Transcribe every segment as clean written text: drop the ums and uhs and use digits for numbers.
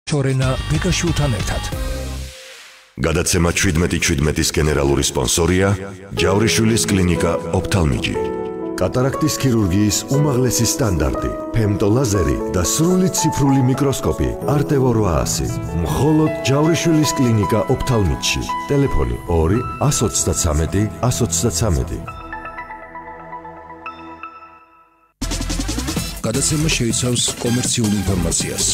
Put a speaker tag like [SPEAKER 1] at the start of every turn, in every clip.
[SPEAKER 1] შორენა ბეკაშვილთან ერთად.
[SPEAKER 2] გადაცემა 17-17-ის გენერალური სპონსორია ჯავრიშვილის კლინიკა ოფთალმიჯი. კატარაქტის ქირურგიის უმაღლესი სტანდარტი, ფემტოლაზერი და სრული ციფრული მიკროსკოპი არტევო 800. მხოლოდ ჯავრიშვილის კლინიკა ოფთალმიჯში. ტელეფონი 2 133 133.
[SPEAKER 1] გადაცემა შეიცავს კომერციულ ინფორმაციას.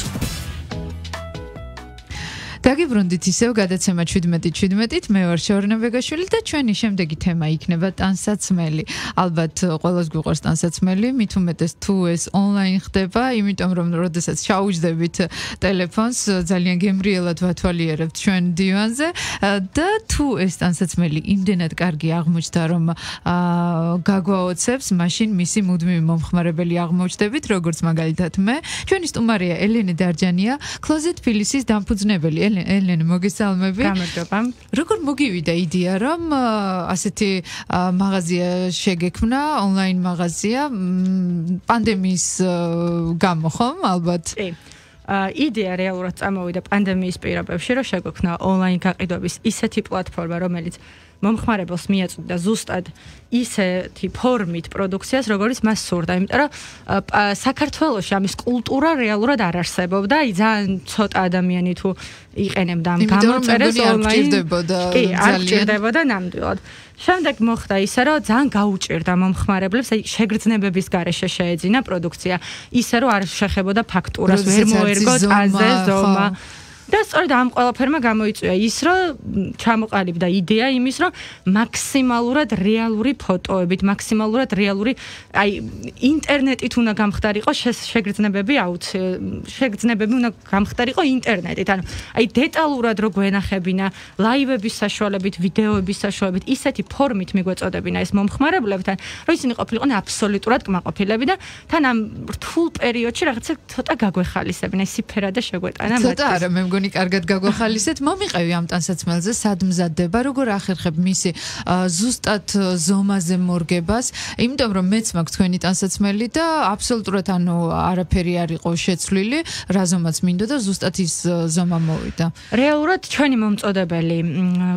[SPEAKER 3] დაგიბრუნდით ისევ გადაცემა 17-17-ით მე ვარ შორენა ბეგაშვილი და ჩვენი შემდეგი თემა იქნება ტანსაცმელი. ალბათ ყველას გვიყვარს ტანსაცმელი, მით უმეტეს თუ ეს ონლაინ ხდება, იმიტომ რომ როდესაც ჩაუჯდებით ტელეფონს, ძალიან გემრიელად ვათვალიერებთ ჩვენ დივანზე და თუ ეს ტანსაცმელი იმდენად კარგი აღმოჩნდა, რომ გაგვაოცებს, მაშინ მისი მუდმივი მომხმარებელი აღმოჩნდებით, როგორც მაგალითად მე. ჩვენი სტუმარია ელენე დარჯანია, Closet Phyllis-ის დამფუძნებელი. ელენე, მოგესალმები.
[SPEAKER 4] გამარჯობა.
[SPEAKER 3] როგორ მოგივიდა იდეა, რომ ასეთი მაღაზია შეგექმნა, ონლაინ მაღაზია, პანდემიის გამო, ხომ, ალბათ?
[SPEAKER 4] კი. იდეა რეალურად წამოვიდა პანდემიის პირობებში, რომ შეგვექმნა ონლაინ გაყიდვების ისეთი პლატფორმა, რომელიც მომხმარებელს მიაწვდიდა ზუსტად ისეთი ფორმით პროდუქციას, როგორც მას სურდა, იმიტომ რომ საქართველოში ამის კულტურა რეალურად არ არსებობდა, ძალიან ცოტა ადამიანი თუ იყენებდა ამ გამოწერეს ონლაინ. კი, არ ჭირდებოდა ნამდვილად. შემდეგ მოხდა ისე, რომ ძალიან გაუჭირდა მომხმარებლებს, აი შეგრძნებების გარეშე შეეძინა პროდუქცია, ისე რომ არ შეხებოდა ფაქტურას, ვერ მოერგო ტანზე ზომა. და სწორედ ამ ყველაფერმა გამოიწვია ის, რომ ჩამოყალიბდა იდეა იმის, რომ მაქსიმალურად რეალური ფოტოებით, მაქსიმალურად რეალური, აი ინტერნეტით უნდა გამხდარიყო შეგრძნებები, შეგრძნებები უნდა გამხდარიყო ინტერნეტით. ანუ აი დეტალურად რო გვენახებინა ლაივების საშუალებით, ვიდეოების საშუალებით, ისეთი ფორმით მიგვეწოდებინა ეს მომხმარებლებთან, რომ ისინი ყოფილიყვნენ აბსოლუტურად კმაყოფილები და თან ამ რთულ პერიოდში რაღაცა ცოტა გაგვეხალისებინა, სიფერა და შეგვეტანა მათ.
[SPEAKER 3] ცოტა არა, მე მგონი კარგად გაგვახალისეთ. მომიყევი ამ ტანსაცმელზე, სად მზადდება, როგორ ახერხებ მისი ზუსტად ზომაზე მორგებას, იმიტომ რომ მეც მაქვს თქვენი ტანსაცმელი და აბსოლუტურად ანუ არაფერი არ იყო შეცვლილი, რა ზომაც მინდო და ზუსტად ის ზომა მოვიდა.
[SPEAKER 4] რეალურად ჩვენი მომწოდებელი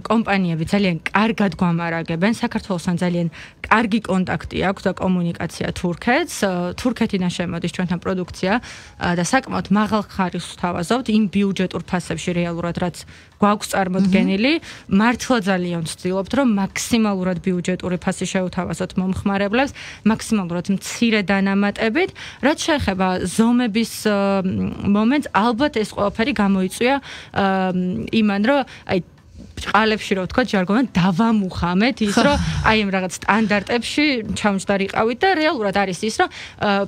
[SPEAKER 4] კომპანიები ძალიან კარგად გვამარაგებენ, საქართველოსთან ძალიან კარგი კონტაქტი აქვს და კომუნიკაცია თურქეთს. თურქეთიდან შემოდის ჩვენთან პროდუქცია და საკმაოდ მაღალ ხარისხს ვთავაზობთ იმ ბიუჯეტურ ფასებში რეალურად რაც გვაქვს წარმოდგენილი, მართლა ძალიან ვცდილობთ, რომ მაქსიმალურად ბიუჯეტური ფასი შევთავაზოთ მომხმარებლებს, მაქსიმალურად მცირე დანამატებით, რაც შეეხება ზომების მომენტს, ალბათ ეს ყველაფერი გამოიწვია იმან, რომ აი ყალებში რო ვთქვა ჯარგონად დავამუხამეთ ის რომ აი ამ რაღაც სტანდარტებში ჩამჯდარიყავით და რეალურად არის ის რომ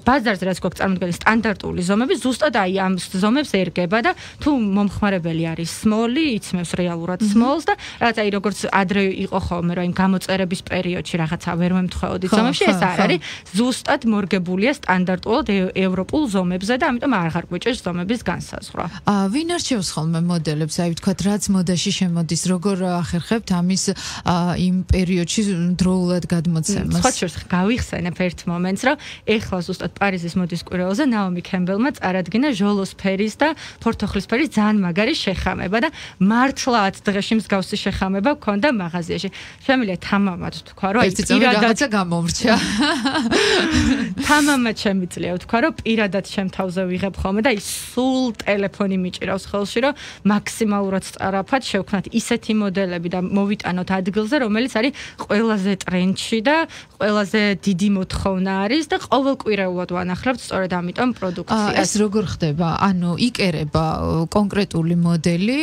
[SPEAKER 4] ბაზარზე რაც გვაქვს წარმოდგენილი სტანდარტული ზომები ზუსტად აი ამ ზომებს ერგება და თუ მომხმარებელი არის small-ი იცმევს რეალურად small-ს და რაღაც აი როგორც ადრე იყო ხოლმე რომ აი გამოწერების პერიოდში რაღაცა ვერ მემთხვეოდით ზომებში ეს არ არის ზუსტად მორგებულია სტანდარტულად ევროპულ ზომებზე და ამიტომ აღარ გვიჭირს ზომების განსაზღვრა.
[SPEAKER 3] ვინ არჩევს ხოლმე მოდელებს აი ვთქვათ რაც მოდაში შემოდის როგორ ახერხებთ ამის იმ პერიოდში დროულად გადმოცემას?
[SPEAKER 4] სხვა შორს გავიხსენებ ერთ მომენტს, რომ ეხლა ზუსტად პარიზის მოდის კვირაოზე ნაომი კემბელმა წარადგინა ჟოლოს ფერის და ფორთოხლის ფერის ძალიან მაგარი შეხამება და მართლა 10 დღეში მსგავსი შეხამება ჰქონდა მაღაზიაში. შემიძლია თამამად თქვა, რომ
[SPEAKER 3] აი პირადად გამომრჩა.
[SPEAKER 4] თამამად შემიძლია თქვა, რომ პირადად შემთავზე ვიღებ ხოლმე და ის სულ ტელეფონი მიჭირავს ხელში, რომ მაქსიმალურად სწრაფად შევქნათ ისეთი მოდელები და მოვიტანოთ ადგილზე, რომელიც არის ყველაზე ტრენდში და ყველაზე დიდი მოთხოვნა არის და ყოველკვირეულად ვანახლებთ სწორედ ამიტომ პროდუქციას.
[SPEAKER 3] ეს როგორ ხდება? ანუ იკერება კონკრეტული მოდელი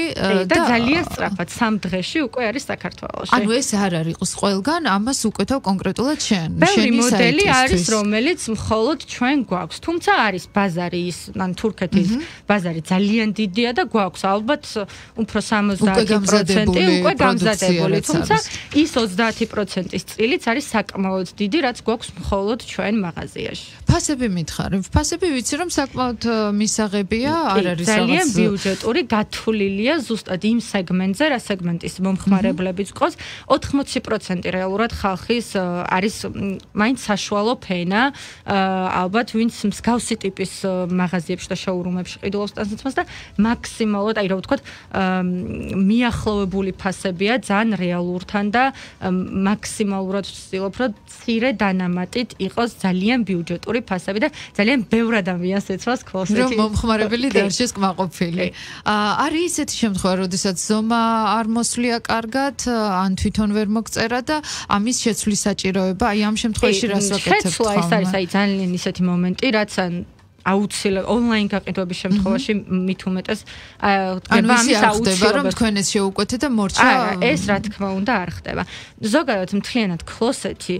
[SPEAKER 4] და ძალიან სწრაფად 3 დღეში უკვე არის საქართველოში.
[SPEAKER 3] ანუ ეს არ არის ყველგან, ამას უკეთავ კონკრეტულად შენ.
[SPEAKER 4] შენი მოდელი არის, რომელიც მხოლოდ ჩვენ გვაქვს. თუმცა არის ბაზარი ის, ან თურქეთის ბაზარი ძალიან დიდია და გვაქვს ალბათ უფრო 70% უკვე გამზადებული, თუმცა ის 30%-ის წილიც არის საკმაოდ დიდი, რაც გვაქვს მხოლოდ ჩვენ მაღაზიაში.
[SPEAKER 3] ფასები მითხარი. ფასები ვიცი რომ საკმაოდ მისაღებია, არ არის რაღაც
[SPEAKER 4] ძალიან ბიუჯეტური, გათვლილია ზუსტად იმ სეგმენტზე, რა სეგმენტის მომხმარებლებიც ყავს. 80% რეალურად ხალხის არის მაინც საშუალო ფენა, ალბათ ვინც მსგავსი ტიპის მაღაზიებში და შოურუმებში ყიდულობს ტანსაცმელს და მაქსიმალურად, აი რა ვთქვათ, მიახლოვებული ფასებია ძალიან რეალურთან და მაქსიმალურად ვცდილობ, რომ მცირე დანამატით იყოს ძალიან ბიუჯეტური ფასები და ძალიან ბევრ ადამიანს ეცვას ქლოსეთი.
[SPEAKER 3] რომ მომხმარებელი დარჩეს კმაყოფილი. არის ისეთი შემთხვევა, როდესაც ზომა არ მოსვლია კარგად, ან თვითონ ვერ მოგწერა და ამის შეცვლის საჭიროება, აი ამ შემთხვევაში რას ვაკეთებთ?
[SPEAKER 4] შეცვლა ეს არის აი ძალიან ისეთი მომენტი, რაც აუცილებლად ონლაინ გაყიდვების შემთხვევაში მით უმეტეს
[SPEAKER 3] ანუ ამის აუცილებლობა რომ თქვენ ეს შეუკვეთეთ და მორჩა
[SPEAKER 4] ეს რა თქმა უნდა არ ხდება. ზოგადად მთლიანად ქლოსეთი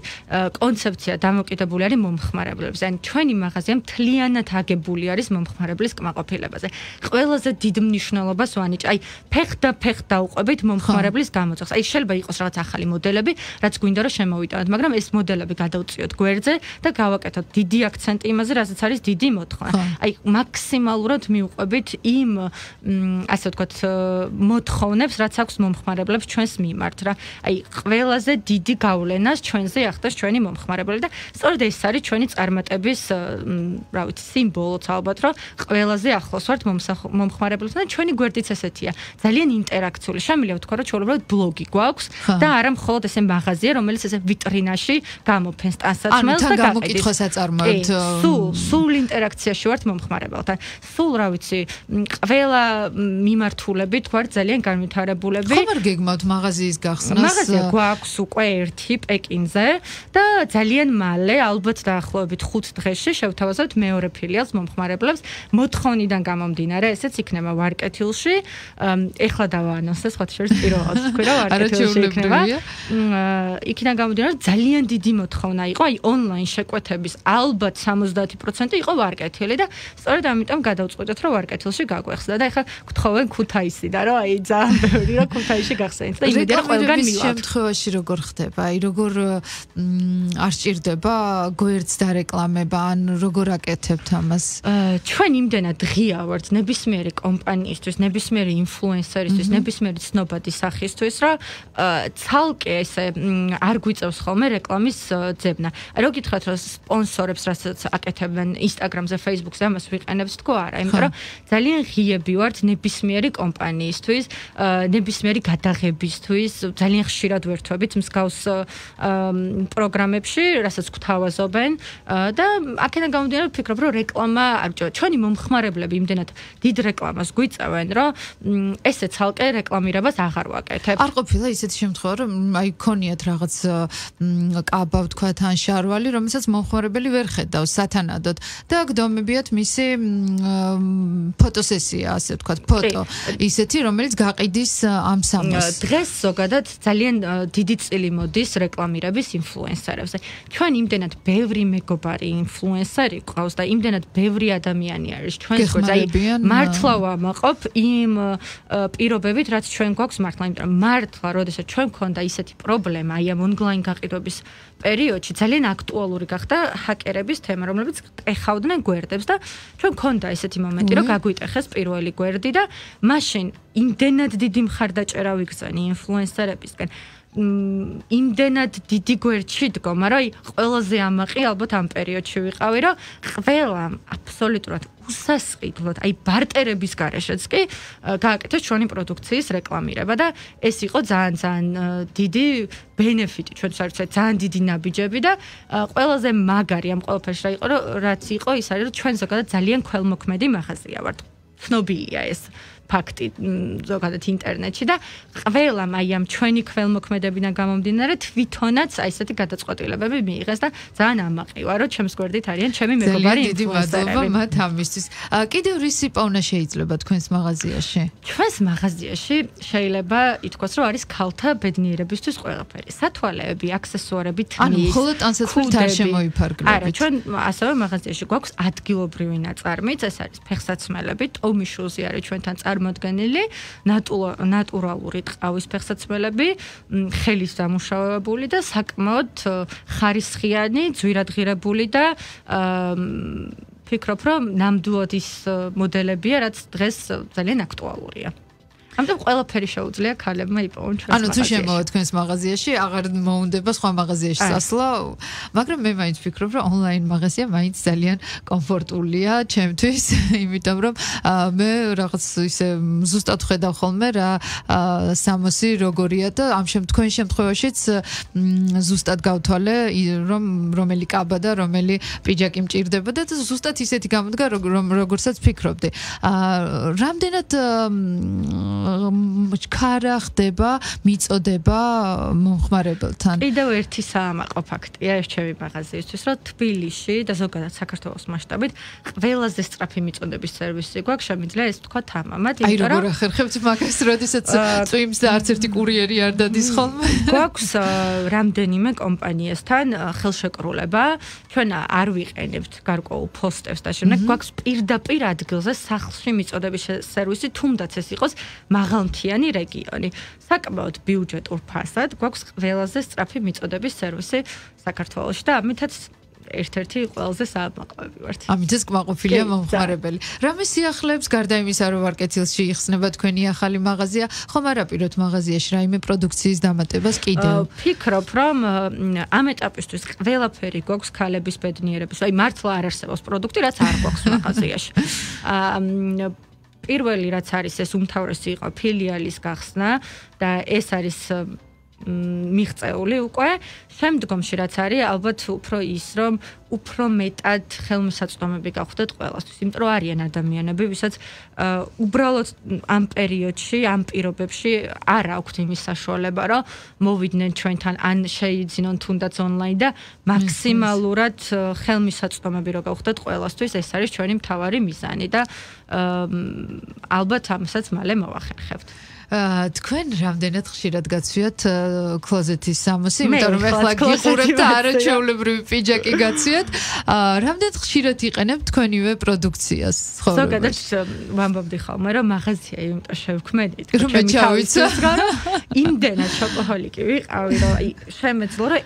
[SPEAKER 4] კონცეფცია დამოკიდებული არის მომხმარებლებზე. ან ჩვენი მაღაზია მთლიანად აგებული არის მომხმარებლის კმაყოფილებაზე. ყველაზე დიდ მნიშვნელობას ვანიჭ. აი ფეხ დაუყვებით მომხმარებლის გამოძახს. აი შეიძლება იყოს რაღაც ახალი მოდელები, რაც გვინდა რომ შემოვიტანოთ, მაგრამ ეს მოდელები გადავწიოთ გვერდზე და გავაკეთოთ დიდი აქცენტი იმაზე, რასაც არის დიდი მოთხოვნა. აი მაქსიმალურად მივყვებით იმ ასე ვთქვათ მოთხოვნებს, რაც აქვს მომხმარებლებს ჩვენს მიმართ რა. აი ყველაზე დიდი გავლენას ჩვენზე ახდენს ჩვენი მომხმარებლები და სწორედ ეს არის ჩვენი წარმატების რა ვიცი სიმბოლოც ალბათ, რომ ყველაზე ახლოს ვართ მომხმარებლებთან და ჩვენი გვერდიც ესეთია. ძალიან ინტერაქციული. შემიძლია ვთქვა, რომ ჩვეულებრივად ბლოგი გვაქვს და არა მხოლოდ ესე მაღაზია, რომელიც ესე ვიტრინაში გამოფენს ტანსაცმელს და
[SPEAKER 3] გამოკითხვას აწარმოებთ.
[SPEAKER 4] სულ ინტერაქციაში ვართ მომხმარებელთან. სულ რა ვიცი, ყველა მიმართულებით ვართ ძალიან განვითარებულები.
[SPEAKER 3] ხომ არ გეგმავთ მაღაზიის გახსნას?
[SPEAKER 4] მაღაზია გვაქვს უკვე ერთი პეკინზე და ძალიან მალე, ალბათ დაახლოებით 5 დღეში შევთავაზებთ მეორე ფილიალს მომხმარებლებს. მოთხოვნიდან გამომდინარე, ესეც იქნება ვარკეთილში. ეხლა დავაანონსე, სხვა შორის პირველად თქვი რა ვარკეთილში იქნება. იქიდან გამომდინარე, ძალიან დიდი მოთხოვნა იყო, აი ონლაინ შეკვეთების ალბათ 70% იყო ვარკეთილი და სწორედ ამიტომ გადავწყვიტეთ, რომ ვარკეთილში გაგვეხსნა და ეხლა გთხოვენ ქუთაისიდან, რომ აი ძალიან ბევრი რომ ქუთაისში გახსენით და იმედია ყველგან მივალთ.
[SPEAKER 3] შემთხვევაში როგორ ხდება? აი როგორ არ სჭირდება გვერდს დარეკლამება, ან როგორ აკეთებთ ამას?
[SPEAKER 4] ჩვენ იმდენად ღია ვართ ნებისმიერი კომპანიისთვის, ნებისმიერი ინფლუენსერისთვის, ნებისმიერი ცნობადი სახისთვის, რომ ცალკე ესე არ გვიწევს ხოლმე რეკლამის ძებნა. რო გითხრათ, რომ სპონსორებს რასაც აკეთებენ Instagram-ზე, Facebook-ზე, ამას ვიყენებთ თქო არა, იმიტომ რომ ძალიან ღიები ვართ ნებისმიერი კომპანიისთვის, ნებისმიერი გადაღებისთვის, ძალიან ხშირად ვერთვებით მსგავს პროგრამებში, რასაც გვთავაზობენ და აქედან გამომდინარე ვფიქრობ, რომ რეკლამა არ ჭირდება. ჩვენი მომხმარებლები იმდენად დიდ რეკლამას გვიწევენ, რომ ესე ცალკე რეკლამირებას აღარ ვაკეთებ.
[SPEAKER 3] არ ყოფილა ისეთი შემთხვევა, რომ აი ქონიათ რაღაც კაბა ვთქვათ ან შარვალი, რომელსაც მომხმარებელი ვერ ხედავს სათანადოდ და გდომებიათ მისი ფოტოსესია, ასე ვთქვათ, ფოტო. ისეთი, რომელიც გაყიდის ამ სამოს.
[SPEAKER 4] დღეს ზოგადად ძალიან დიდი წილი მოდის რეკლამირების ინფლუენსერებზე. ჩვენ იმდენად ბევრი მეგობარი ინფლუენსერი ყავს და იმდენად ბევრი ადამიანი არის ჩვენს გვერდზე. აი მართლა ვამაყობ იმ პირობებით, რაც ჩვენ გვაქვს მართლა, იმიტომ რომ მართლა, როდესაც ჩვენ გქონდა ისეთი პრობლემა, აი ამ ონლაინ გაყიდვების პერიოდში ძალიან აქტუალური გახდა ჰაკერების თემა, რომლებიც ეხავდნენ გვერდებს და ჩვენ გქონდა ესეთი მომენტი, რომ გაგვიტეხეს პირველი გვერდი და მაშინ იმდენად დიდი მხარდაჭერა ვიგზავნი ინფლუენსერებისგან. იმდენად დიდი გვერდში დგომა, რომ ყველაზე ამაყი ალბათ ამ პერიოდში ვიყავი, რომ ყველამ აბსოლუტურად უსასყიდლოდ, აი ბარტერების გარეშეც კი გააკეთეს ჩვენი პროდუქციის რეკლამირება და ეს იყო ძალიან დიდი ბენეფიტი ჩვენთვის არის ძალიან დიდი ნაბიჯები და ყველაზე მაგარი ამ ყველაფერში რა იყო, რაც იყო ის არის, რომ ჩვენ ზოგადად ძალიან ქველმოქმედი მაღაზია ვართ. ცნობილია ეს ფაქტი ზოგადად ინტერნეტში და ყველამ აი ამ ჩვენი ქველმოქმედებიდან გამომდინარე თვითონაც აი ესეთი გადაწყვეტილებები მიიღეს და ძალიან ამაყი ვარ, რომ ჩემს გვერდით არიან ჩემი მეგობარი ინფლუენსერები.
[SPEAKER 3] ძალიან დიდი მადლობა მათ ამისთვის. კიდევ რისი პოვნა შეიძლება თქვენს მაღაზიაში?
[SPEAKER 4] ჩვენს მაღაზიაში შეიძლება ითქვას, რომ არის ქალთა ბედნიერებისთვის ყველაფერი. სათვალეები, აქსესუარები, თმის.
[SPEAKER 3] ანუ მხოლოდ ტანსაცმელით არ შემოიფარგლებით.
[SPEAKER 4] არა, ჩვენ ასევე მაღაზიაში გვაქვს ადგილობრივი ნაწარმიც, ეს არის ფეხსაცმელები, ტომიშუზი არის ჩვენთან წარმოდგენილი ნატურალური ტყავის ფეხსაცმელები, ხელის დამუშავებული და საკმაოდ ხარისხიანი, ძვირადღირებული და ფიქრობ, რომ ნამდვილად ის მოდელებია, რაც დღეს ძალიან აქტუალურია. ამიტომ ყველაფერი შეუძლია ქალებმა იპოვონ ჩვენს
[SPEAKER 3] ანუ თუ შემოვა თქვენს მაღაზიაში, აღარ მოუნდება სხვა მაღაზიაში წასვლა, მაგრამ მე მაინც ვფიქრობ, რომ ონლაინ მაღაზია მაინც ძალიან კომფორტულია ჩემთვის, იმიტომ რომ მე რაღაც ისე ზუსტად ხედავ ხოლმე რა სამოსი როგორია და თქვენ შემთხვევაშიც ზუსტად გავთვალე, რომ რომელი კაბა და რომელი პიჯაკი მჭირდება და ზუსტად ისეთი გამოდგა, როგორცაც ფიქრობდი. რამდენად ქარა ხდება მიწოდება მომხმარებელთან.
[SPEAKER 4] კიდევ ერთი საამაყო ფაქტია ეს ჩემი მაღაზიისთვის, რომ თბილისში და ზოგადად საქართველოს მასშტაბით ყველაზე სწრაფი მიწოდების სერვისი გვაქვს, შემიძლია ეს თქვა თამამად,
[SPEAKER 3] იმიტომ რომ როგორ ახერხებთ მაგას, როდესაც წვიმს და არც ერთი კურიერი არ დადის ხოლმე.
[SPEAKER 4] გვაქვს რამდენიმე კომპანიასთან ხელშეკრულება, ჩვენ არ ვიყენებთ გარკვეულ ფოსტებს და შემდეგ გვაქვს პირდაპირ ადგილზე სახლში მიწოდების სერვისი, თუნდაც ეს იყოს მაღალმთიანი რეგიონი. საკმაოდ ბიუჯეტურ ფასად გვაქვს ყველაზე სწრაფი მიწოდების სერვისი საქართველოში და ამითაც ერთ-ერთი ყველაზე საამაყობი ვართ.
[SPEAKER 3] ამითაც კმაყოფილია მომხმარებელი. რამე სიახლეებს გარდა იმისა, რომ ვარ კეთილში იხსნება თქვენი ახალი მაღაზია, ხომ არ აპიროთ მაღაზიაში რაიმე პროდუქციის დამატებას კიდევ?
[SPEAKER 4] ფიქრობ, რომ ამ ეტაპისთვის ყველაფერი გვაქვს ქალების ბედნიერების, აი მართლა არ არსებობს პროდუქტი, რაც არ გვაქვს მაღაზიაში. პირველი რაც არის ეს უმთავრესი იყო ფილიალის გახსნა და ეს არის მიღწეული უკვე. შემდგომში რაც არის ალბათ უფრო ის რომ უფრო მეტად ხელმისაწვდომები გავხდეთ ყველასთვის, იმიტომ რომ არიან ადამიანები, ვისაც უბრალოდ ამ პერიოდში, ამ პირობებში არ აქვთ იმის საშუალება, რომ მოვიდნენ ჩვენთან ან შეიძინონ თუნდაც ონლაინ და მაქსიმალურად ხელმისაწვდომები რო გავხდეთ ყველასთვის, ეს არის ჩვენი მთავარი მიზანი და ალბათ ამასაც მალე მოვახერხებთ.
[SPEAKER 3] თქვენ რამდენად ხშირად გაცვიათ კლოზეტის სამოსი, იმიტომ რომ ახლა გიყურებთ და არაჩვეულებრივი პიჯაკი გაცვიათ. რამდენად ხშირად იყენებთ თქვენივე პროდუქციას?
[SPEAKER 4] ზოგადად ვამბობდი ხოლმე, რომ მაღაზია იმიტომ შევქმედით,
[SPEAKER 3] რომ მე ჩავიცო,
[SPEAKER 4] რომ იმდენად შოპოჰოლიკი ვიყავი, რომ შემეძლო, რომ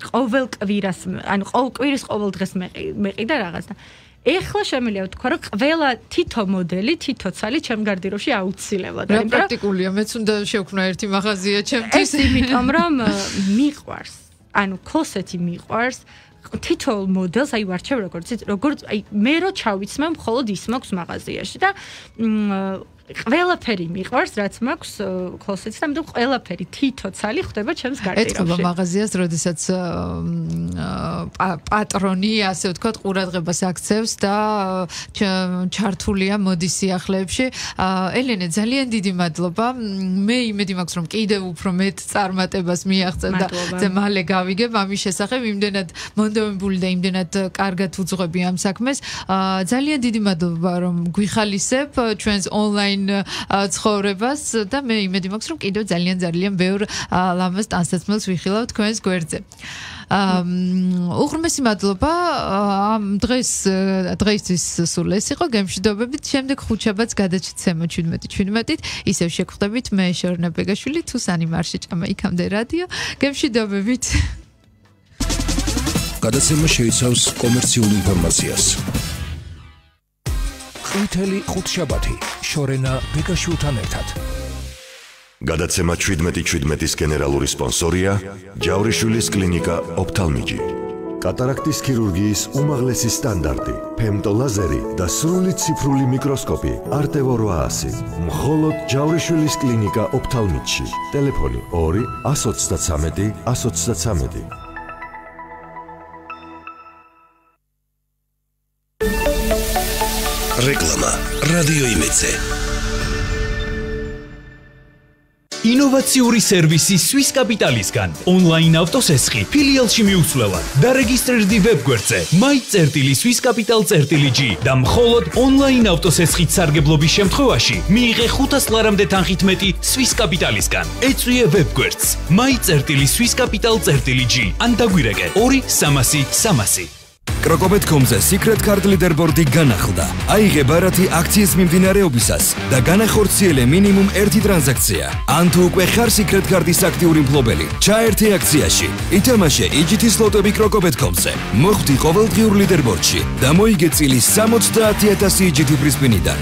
[SPEAKER 4] ყოველ კვირას, ანუ ყოველ კვირის ყოველ დღეს მეყიდა რაღაც და ეხლა შემიძლია ვთქვა, რომ ყველა თითო მოდელი, თითო ცალი ჩემ გარდიროში აუცილებლად არის.
[SPEAKER 3] რა პრაქტიკულია, მეც უნდა შევქმნა ერთი მაღაზია ჩემთვის.
[SPEAKER 4] ეს იმიტომ რომ მიყვარს, ანუ კლოსეთი მიყვარს, თითოეულ მოდელს აი ვარჩევ როგორც აი მე რო ჩავიცმე, მხოლოდ ის მაქვს მაღაზიაში და ყველაფერი მიყვარს, რაც მაქვს კლოსეთს და ამიტომ ყველაფერი თითო ცალი ხდება ჩემს გარდიროში.
[SPEAKER 3] ეთქობა მაღაზიას, როდესაც პატრონი, ასე ვთქვათ, ყურადღებას აქცევს და ჩართულია მოდის სიახლეებში. ელენე, ძალიან დიდი მადლობა. მე იმედი მაქვს, რომ კიდევ უფრო მეტ წარმატებას მიაღწევ და მალე გავიგებ ამის შესახებ, იმდენად მონდომებული და იმდენად კარგად უძღვები ამ საქმეს. ძალიან დიდი მადლობა, რომ გვიხალისებ ჩვენს ონლაინ ცხოვრებას და მე იმედი მაქვს, რომ კიდევ ძალიან ბევრ ლამაზ ტანსაცმელს ვიხილავ თქვენს გვერდზე. უღრმესი მადლობა. დღეისთვის სულ ეს იყო. გემშვიდობებით. შემდეგ ხუთშაბათს გადაჩცემა 17:17-ით. ისევ შეგხვდებით მე შორნა ბეგაშვილი თუ სანი მარშეჭამა იქამდე რადიო. გემშვიდობებით.
[SPEAKER 1] გადაცემა შეიცავს კომერციულ ინფორმაციას. ყვითელი ხუთშაბათი შორენა ბეგაშვილთან ერთად.
[SPEAKER 2] გადაცემა 17:17-ის გენერალური სპონსორია ჯავრიშვილის კლინიკა ოფთალმიჯი. კატარაქტის ქირურგიის უმაღლესი სტანდარტი, ფემტოლაზერი და სრული ციფრული მიკროსკოპი არტევო 800. მხოლოდ ჯავრიშვილის კლინიკა ოფთალმიჯში. ტელეფონი 2 123 123.
[SPEAKER 1] რეკლამა რადიო იმედზე.
[SPEAKER 5] ინოვაციური სერვისი Swiss Capital-ისგან. ონლაინ ავტოსესხი ფილიალში მიუცვლელად. დარეგისტრირდი ვებგვერდზე my.swiss-capital.g და მხოლოდ ონლაინ ავტოსესხით სარგებლობის შემთხვევაში მიიღე 500 ლარამდე თანხით მეტი Swiss Capital-ისგან. ეწვიე ვებგვერდს my.swiss-capital.g ან დაგვირეკე 2 300 300.
[SPEAKER 6] Crocobet.com-ზე Secret Card Leaderboard-ი განახლდა. აიღე ბარათი აქციის მიმდინარეობისას და განახორციელე მინიმუმ 1 ტრანზაქცია. ან თუ უკვე ხარ Secret Card-ის აქტიური მფლობელი, ჩაერთე აქციაში. ითამაშე EGT სლოტები Crocobet.com-ზე. მოხვდი ყოველდღიურ ლიდერბორდში და მოიგე წილის 70,000 EGT პრიზმიდან.